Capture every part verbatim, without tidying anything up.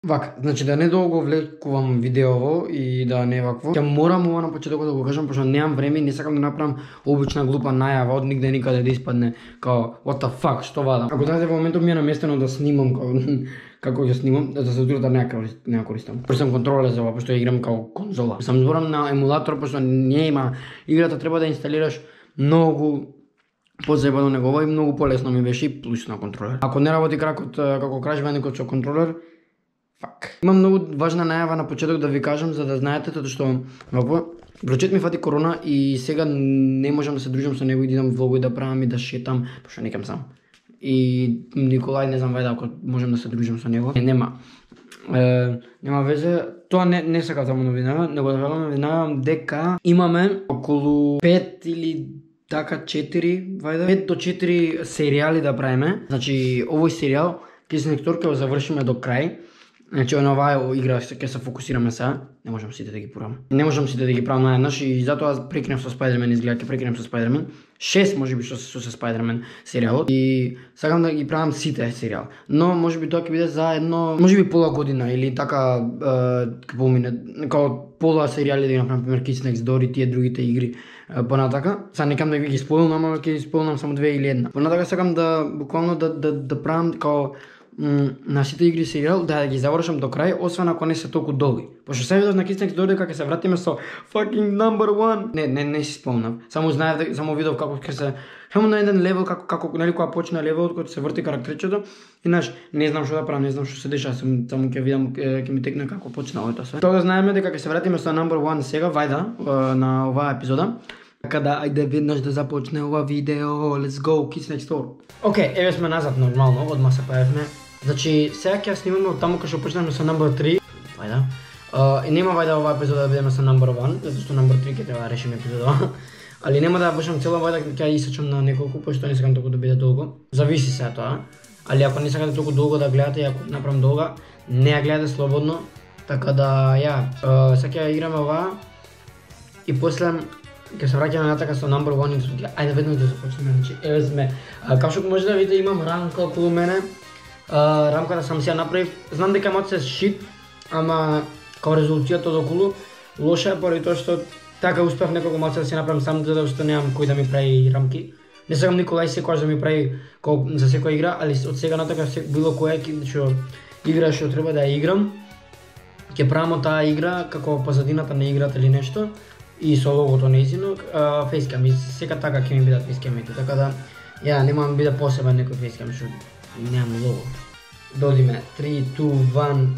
Вака, значи да не долго влекувам видеово и да не вакво. Ќе морам ова на почетокот да го кажам, пошто немам време и не сакам да направам обична глупа најава од нигде никаде да испадне као what the fuck, што вадам. Ако знаете во моментот ми е наместено да снимам као како ќе снимам, да се да не не користам. Пошто сам контролер за ова, пошто ја играм као конзола. Сам зборам на емулатор, пошто нема играта треба да инсталираш многу позаебано него и многу полесно ми беше и плюс на контролер. Ако не работи кракот како Crash Bandicoot со контролер, fuck. Има многу важна најава на почеток да ви кажам за да знаете, тоа што вако врачет ми фати корона и сега не можам да се дружам со него и да идам влогови да правам и да шетам, пошто некам сам. И Николај не знам вајде ако можам да се дружам со него. Не, нема. Е, нема везе. Тоа не не сакам само новина, него да велам новина дека имаме околу пет или така четири, вајде пет до четири серијали да правиме. Значи овој серијал Кисник Тор ќе го завршиме до крај. Значи на оваа игра ќе се фокусираме сега. Не можам сите да ги правам. Не можам сите да ги правам наеднаш и затоа прекинав со Спајдермен, изгледа ќе прекинам со Спајдермен. шест можеби што се со Спајдермен серијалот и сакам да ги правам сите серијал. Но можеби тоа ќе биде за едно, можеби пола година или така ќе помине како пола серијали да ги направам, например Kids Next Door и тие другите игри понатака. Сега некам да ги споилнам, ама ќе споилнам само две или една. Понатака сакам да буквално да да да правам како на сите игри серијал да ги завршам до крај, освен ако не се толку долги. Пошто се видов на Kids Next Door дека ќе се вратиме со fucking number one. Не, не, не си спомнав. Само знаев, само видов како ќе се само на еден левел како како нели кога почна левелот кога се врти карактерчето и знаеш, не знам што да правам, не знам што се дешава, само ќе видам ќе ми текне како почна ова све. Тоа да знаеме дека ќе се вратиме со number one сега вајда на оваа епизода. Така да ајде веднаш да започне ова видео. Let's go Kids Next Door. Океј, еве сме назад нормално, одма се појавивме. Значи, сега ќе снимаме од таму кај што почнеме со number three. Вајда. Uh, и нема вајда оваа епизода да бидеме со number one, затоа што number three ќе треба да решиме епизода. Али нема да ја бушам цела вајда, ќе ја исечам на неколку, пошто не сакам толку да биде долго. Зависи се тоа. Али ако не сакате толку долго да гледате и ако направам долга, не ја гледате слободно. Така да, ја, uh, сега ќе играме оваа и после ќе се враќаме натака со number one и ајде веднаш да започнеме. Значи, еве сме. Uh, Како што може да видите, имам рамка околу мене. Uh, рамката сам си ја направив. Знам дека мот се шит, ама као резултатот околу лоша е поради тоа што така успеав неколку малце да си направам сам, затоа што немам кој да ми прави рамки. Не сакам Николај секогаш да ми прави за секоја игра, али од сега натака било која што игра што треба да ја играм, ќе правам таа игра како позадината на играта или нешто и со логото нејзино, фейскам и сека така ќе ми бидат фейскамите, така да ја немам биде посебен некој фейскам што немам лого. Додиме three, two, one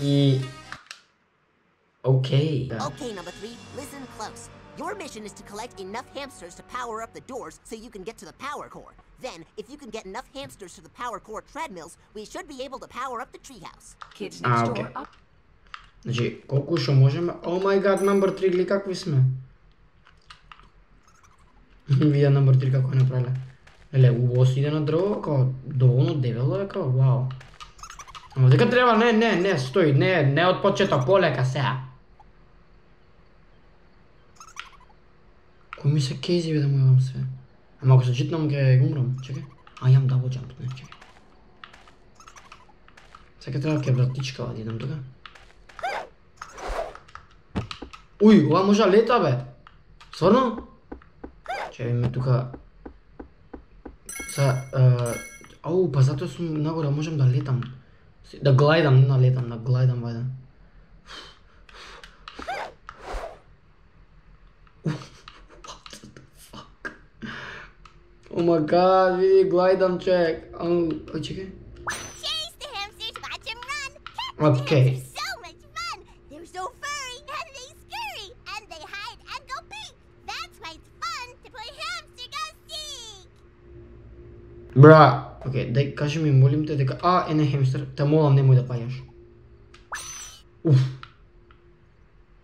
и okay. Okay, number three, listen close. Your mission is to collect enough hamsters to power up the doors so you can get to the power core. Then, if you can get enough hamsters to the power core treadmills, we should be able to power up the treehouse. Kids Next Ah, okay. Door up. Значи, колку што можеме? Oh my god, number three, ли какви сме? Видя number three како е направиле. Еле, убаво си иде на дрво, како доволно дебело е, како вау. Ама дека треба, не, не, не, стои, не, не од почеток, полека сега. Кој ми се кейзи бе да му јавам све? Ама ако се читнам ќе умрам, чекай. А, јам double jump, не, чекай. Сега треба ќе вратичка да идам тука. Уј, ова може да лета бе. Стварно? Чекай ме тука. Са, ау, па затоа сум нагоре, можам да летам. Да глајдам, не да летам, да глајдам вајда. О ма гад, види, глајдам чек. Ау, чекай. Chase the hamsters, watch them run. Океј. They're so much fun. They're so furry and they scurry and they hide and go peek. That's why it's fun to play hamster go seek. Бра. Океј, дај кажи ми, молим те дека а, е не хемстер, те молам немој да паѓаш. Уф.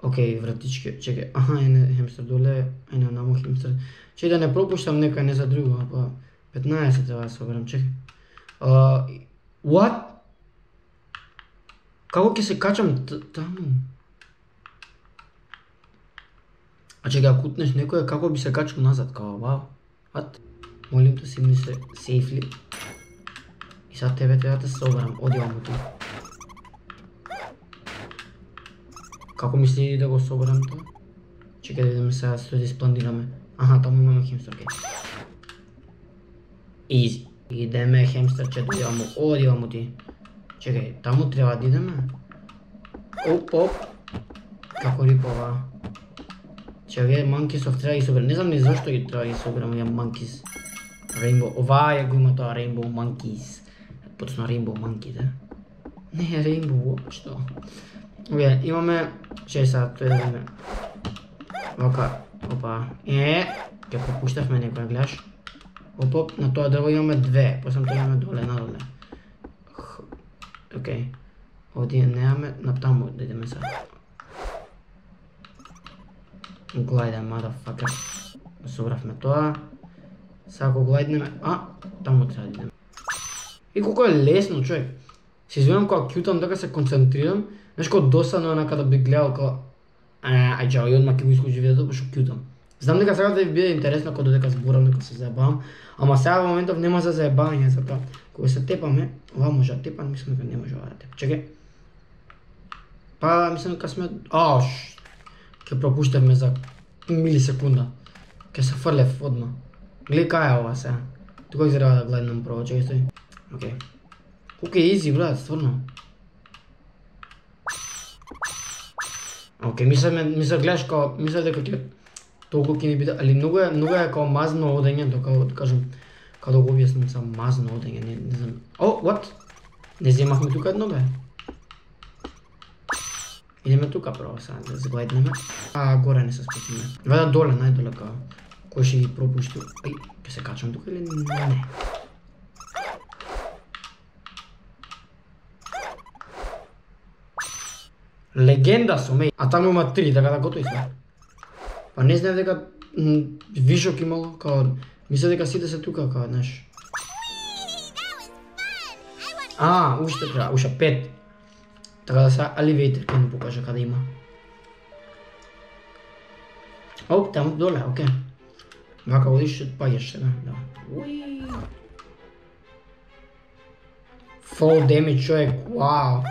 Океј, вратички, чекај. Аха, е не хемстер доле, е не намо хемстер. Чекај да не пропуштам некој не за друго, па петнаесет треба да соберам, чекај. Uh, what? Како ќе се качам таму? А чекај, ако кутнеш некој, како би се качал назад, као, вау. What? Молим те си ми се сейфли. И сад тебе треба да се соберам, оди ваму ту. Како мисли да го соберам тоа? Чекај да видиме сега што да испланираме. Аха, таму имаме хемстер, окей. Изи. Идеме хемстерче, дојдевамо, одивамо ти. Чекај, таму треба да идеме. Оп, оп. Како рипова. Че овие манкисов треба да ги соберам. Не знам ни зашто ги треба да ги соберам овие манкис. Rainbow, ова е го има тоа Rainbow Monkeys. Поточно Rainbow Monkey, да? Не е Rainbow уопшто. Овие, имаме... Чеј сега, тој да видиме. Вака, опа. Е, ке пропуштавме некоја, гледаш? Оп, оп, на тоа дрво имаме две, посам тоа имаме доле, надоле. Окей. Овде немаме, на таму да идеме сега. Глајде, motherfucker. Собравме тоа. Сега го глајднеме, а, таму треба да идеме. И колко е лесно, човек. Се извинам кога кјутам, дека се концентрирам. Знаеш кој досадно е када би гледал кога... Ај чао, и одма ќе го исклучи видеото, пошто кјутам. Знам дека сега да ви биде интересно кога додека зборам, дека се заебавам. Ама сега во моментов нема за заебавање, затоа кога се тепаме, ова може да тепам, мислам дека не може ова да тепам. Чекај. Па, мислам дека сме... Аш, ќе пропуштевме за милисекунда. Ќе се фрлев одма. Гледај кај е ова сега. Тука ќе треба да гледам прво, чекај стои. Окей. Колко е изи, брат, стварно. Окей, мисля, мисля, гледаш као, мисля дека ќе толку ќе ни биде, али многу е, многу е као мазно одење, дека да кажем, као да го објаснам са мазно одење, не, не знам. О, what? Не земахме тука едно, бе. Идеме тука прво сега, да загледнеме. А, горе не се спустиме. Вајда доле, најдоле као. Кој ще ги пропушти? Ај, ќе се качам тука или не? Легенда сум, еј. А таму има три, така да готови сме. Па не знаев дека вишок имало, као... Мисля дека сите се тука, као, знаеш. А, уште треба, уште пет. Така да сега elevator ќе ни покаже каде има. Оп, таму доле, окей. Вака одиш и паѓаш сега, да. Уи. Fall damage, човек, вау.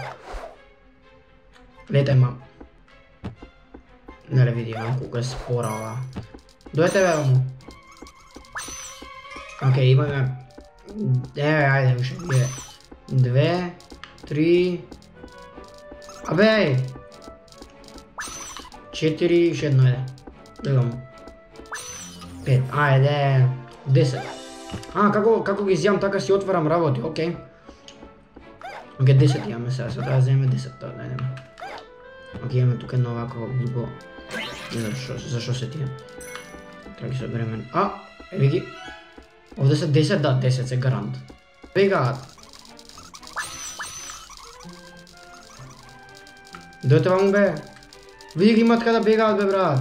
Летај, ма. Неле види, ма, колко е спора ова. Дојте, бе, му. Окей, имаме... Еве, ајде, уште, биде. Две, три... Абе! Четири, уште едно, ајде. Дојдам. Пет, ајде. Десет. А, како, како ги изјам, така си отварам работи, окей. Окей, десет имаме сега, сега треба да вземеме десет, тоа да идеме. Окей, имаме тука едно овако глупо. Не знам шо, зашо се тие. Треба ги собереме. А, еве ги. Овде се десет, да, десет се гарант. Бегаат. Дојте ваму, бе. Види ги имат каде бегаат, бе, брат.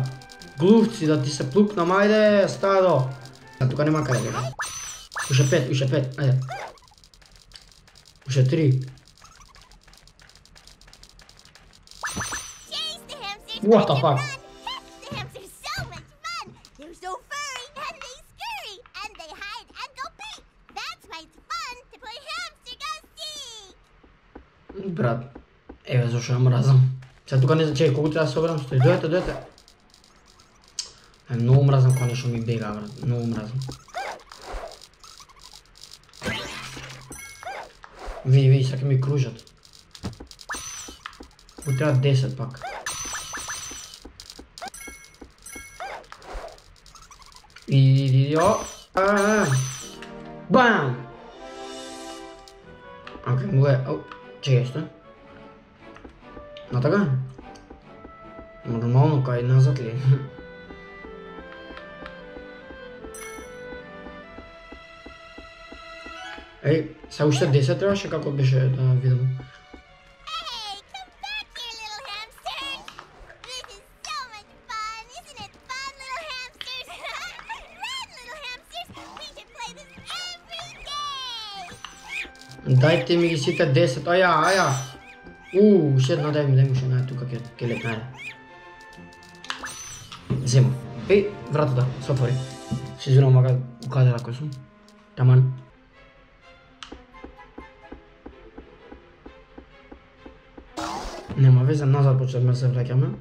Глувци, да ти се плукнам, ајде, стадо. А тука нема каде бегаат. Уште пет, уште пет, ајде. Уште три. What the fuck? The hamsters so much fun! They're so furry and they scurry and they hide and go pee! That's why it's fun to play hamster go see! Брат, еве зашо ја мразам. Сега тука не знам, чекај, колку треба да соберам, стои, дојдете, дојдете. Е, многу мразам кога нешто ми бега, брат, многу мразам. Види, види, сега ми кружат. Колку треба десет пак. Иди, о! Бам! Окей, му е, о, чекај, што? На така? Нормално, кај назад ли? Еј, сега уште десет требаше, како беше да видам. Дајте ми ги сите десет, аја, аја. Уу, уште една, дај ми, дај ми уште една, тука ќе летна, ајде. Зема. Еј, вратата, се отвори. Се извинам, мага укадела кој сум. Таман. Нема везе, назад почнеме се враќаме.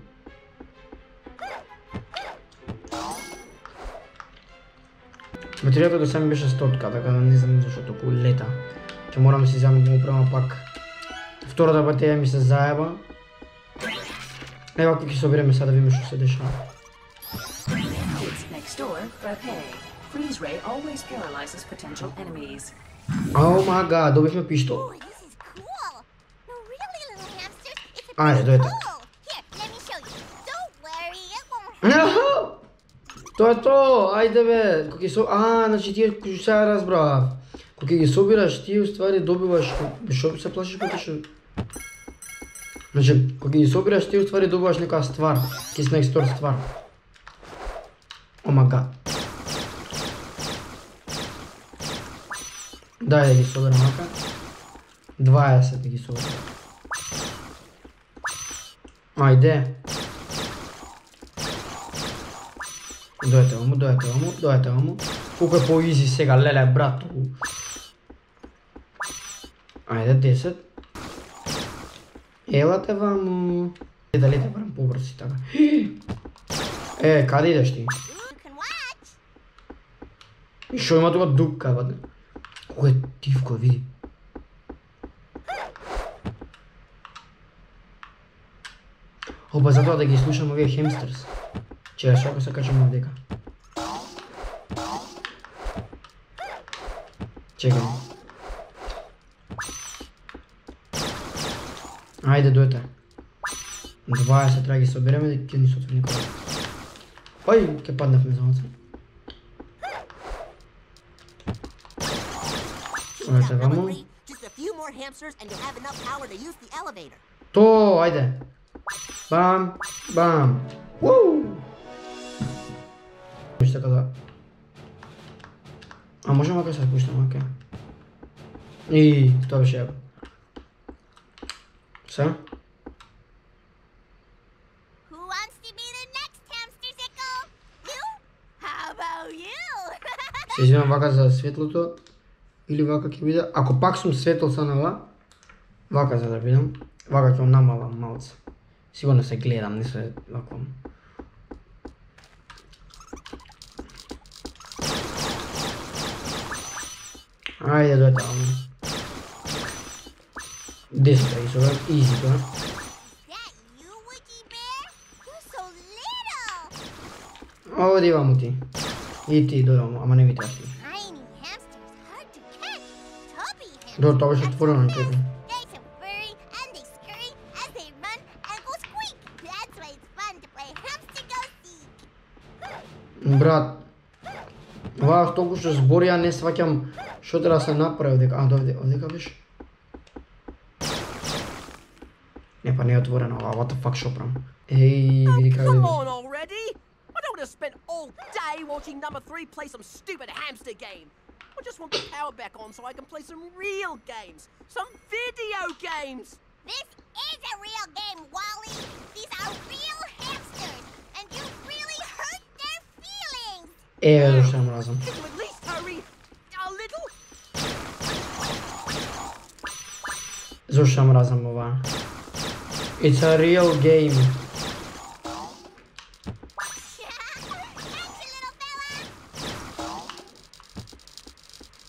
Батеријата до сега ми беше стотка, така да не знам зашто толку лета. Ќе морам да си земам да му правам пак. Втората батерија ми се заеба. Ева како ќе собереме сега да видиме што се дешава. Oh my god, добивме пиштол. Ајде, дојде. Тоа е тоа, ајде бе, кога ќе со... А, значи тие, сега разбрав. Кога ги собираш, ти уствари добиваш... Шо се плашиш потешо? Значи, кога ги собираш, ти уствари добиваш некоја ствар. Кис next door ствар. О ма гад. Дај да ги соберам ака. дваесет да ги соберам. Ајде. Дојте ваму, дојте ваму, дојте ваму. Колку е по-изи сега, леле, брат. Ајде, десет. Елате ваму. Дали те барам побрзи така. Е, каде идеш ти? И шо има тука дупка, баде? Колку е тивко, види. Опа, затоа да ги слушам овие хемстерс. Че, шо ако се качам овдека? Чекай. Ајде, дојте. дваесет треба ги собереме да ќе ни се отвори никога. Ој, ќе паднавме за оце. Дојте ваму. То, ајде. Бам, бам. Уу! Вижте када. А можем ака се спуштам, оке. И тоа беше јако. Се? Се извинам вака за светлото. Или вака ќе биде. Ако пак сум светл санала, вака за да бидам. Вака ќе намалам малце. Сигурно се гледам, не се вако. Ајде, дојте ваму. десет да ги соберам, изи тоа. Оди ваму ти. И ти дојде ваму, ама не ми требаш ти. Добро, тоа беше отворено на тебе. Брат, оваа толку што збори, ја не сваќам што треба да се направи овдека. А, довде, овдека беше? Не, па не е отворено ова, what the fuck шо правам? Еј, види како да already! I don't want to spend all day watching number three play some stupid hamster game. I just want the power back on so I can play some real games. Some video games! This is a real game, Wally! These are real hamsters! And you really hurt their feelings! Еве зашто ја мразам. Can you at least hurry a little? Зашто ја мразам ова? It's a real game.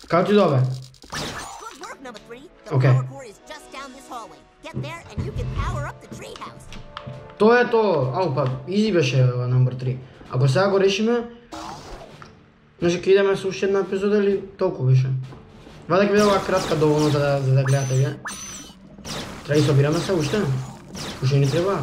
Како ти добе? Good work, number three. The Okay. power core is just down this hallway. Get there and you can power up the treehouse. Тоа е тоа. Ау па, изи беше ова номер три. Ако сега го решиме, значи ќе идеме со уште една епизода или толку беше. Ваде ќе биде ова кратка доволно за да, за да гледате вие. Треба да собираме се уште. Уште ни треба.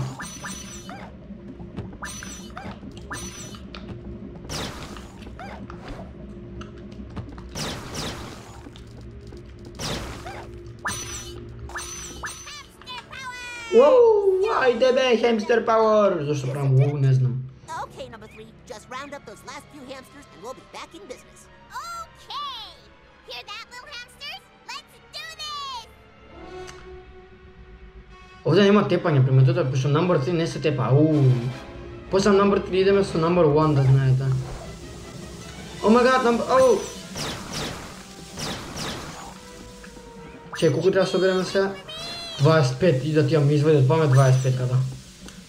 Уау, ајде бе, хемстер пауер! Зашто правам уу, не знам. Okay, number three. Just round up those last few hamsters and we'll be back in business. Okay! Hear that, little hamsters? Let's do this! Овде нема тепање, приметото е, пошто number три не се тепа, уу. После number три идеме со number one, да знаете. О май гад, number... Оу! Чеј, колку треба да собереме сега? дваесет и пет и да ти ја ми изведат памет дваесет и пет када.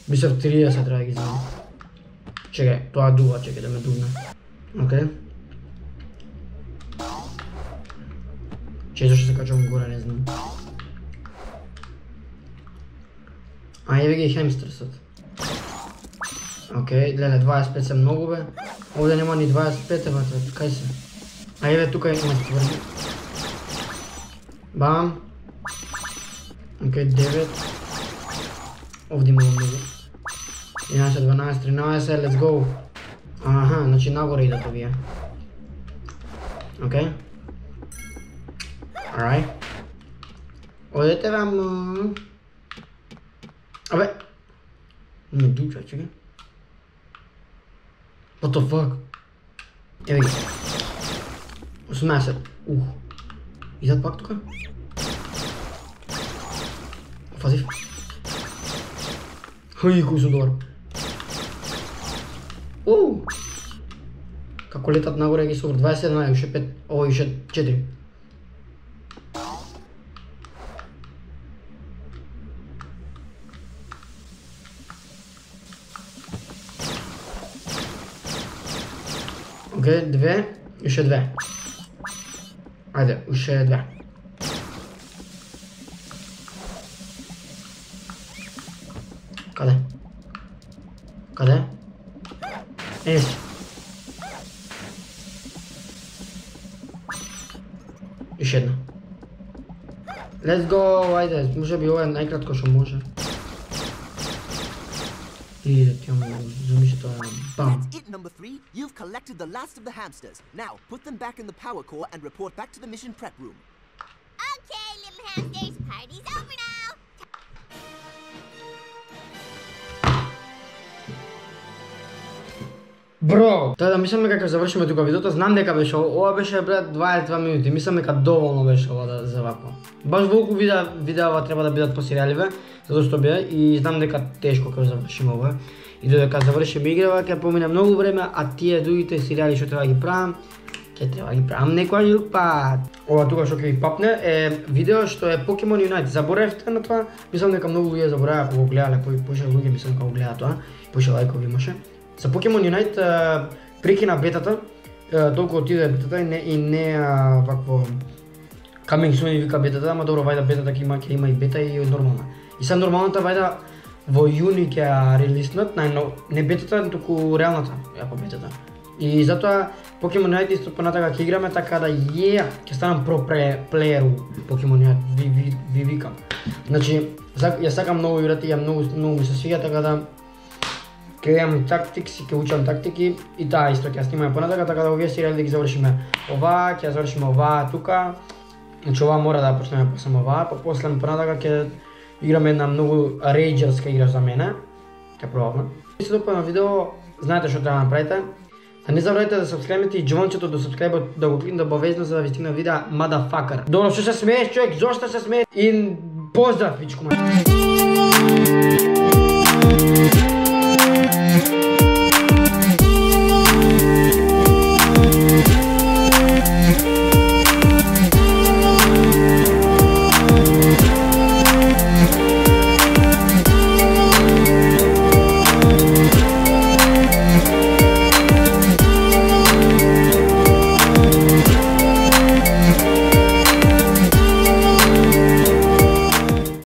Мислев триесет треба да ги изведам. Чекај, тоа дува, чекај да ме дувне. Океј. Чеј, зашто се качувам горе, не знам. А еве ги хемстерсот. Океј, гледај, дваесет и пет се многу бе. Овде нема ни дваесет и пет, бе, кај се? А еве тука има стварни. Бам. Океј, девет. Овде има многу. единаесет, дванаесет, тринаесет, let's go. Аха, значи нагоре идат овие. Океј. Alright. Одете вам. Абе. Не дуча, чекай. What the fuck? Еве ги. осумнаесет. Ух. Идат пак тука? Фазив. Хай, кој сум добар. Уу. Како летат нагоре ги супер. дваесет и еден, уште пет, ово уште четири. Океј, две, уште две. Ајде, уште две. Каде? Каде? Е, си. Уште една. Let's go, ајде, може би ова е најкратко што може. И да ти имам замисли тоа, бам. That's it, number three. You've collected the last of the hamsters. Now, put them back in the power core and report back to the mission prep room. Okay, little hamsters, party's over now. Бро, тоа да мислам дека ќе завршиме тука видеото, знам дека беше ова беше брат дваесет и два минути, мислам дека доволно беше ова да за вако. Баш волку видеа видеа треба да бидат по серијаливе, затоа што бе и знам дека тешко ќе завршиме ова. И додека завршиме играва ќе помине многу време, а тие другите серијали што треба да ги правам, ќе треба да ги правам некој друг пат. Ова тука што ќе ви папне е видео што е Pokemon Unite. Заборавте на тоа, мислам дека многу луѓе забораваа кога го гледале, поише луѓе мислам дека го гледаат тоа, поише лајкови имаше. За Pokemon Unite прекина бетата, толку отиде бетата и не и не вакво coming soon и вика бетата, ама добро вајда бетата ќе има ќе има и бета и нормална. И са нормалната вајда во јуни ќе ја релиснат, најно не бетата, туку реалната, ја по бетата. И затоа Pokemon Unite исто понатака ќе играме така да ја ќе станам про плеер у Pokemon Unite, ви ви ви викам. Значи ја сакам многу играти, ја многу многу ми се свиѓа така да ќе имам тактикси, ќе учам тактики и таа исто ќе снимаме понатака, така да овие серијали да ги завршиме ова, ќе завршиме ова тука. Значи ова мора да почнеме после ова, па после понатака ќе играме една многу рейџерска игра за мене. Ќе пробаме. Ако се допадна видео, знаете што треба да направите. Да не забравяйте да сабскрайбите и џончето до сабскрайбот да го кликнете обавезно за да ви стигне видеа motherfucker. Добро, што се смееш човек, зошто се смееш? И поздрав, пичко ма.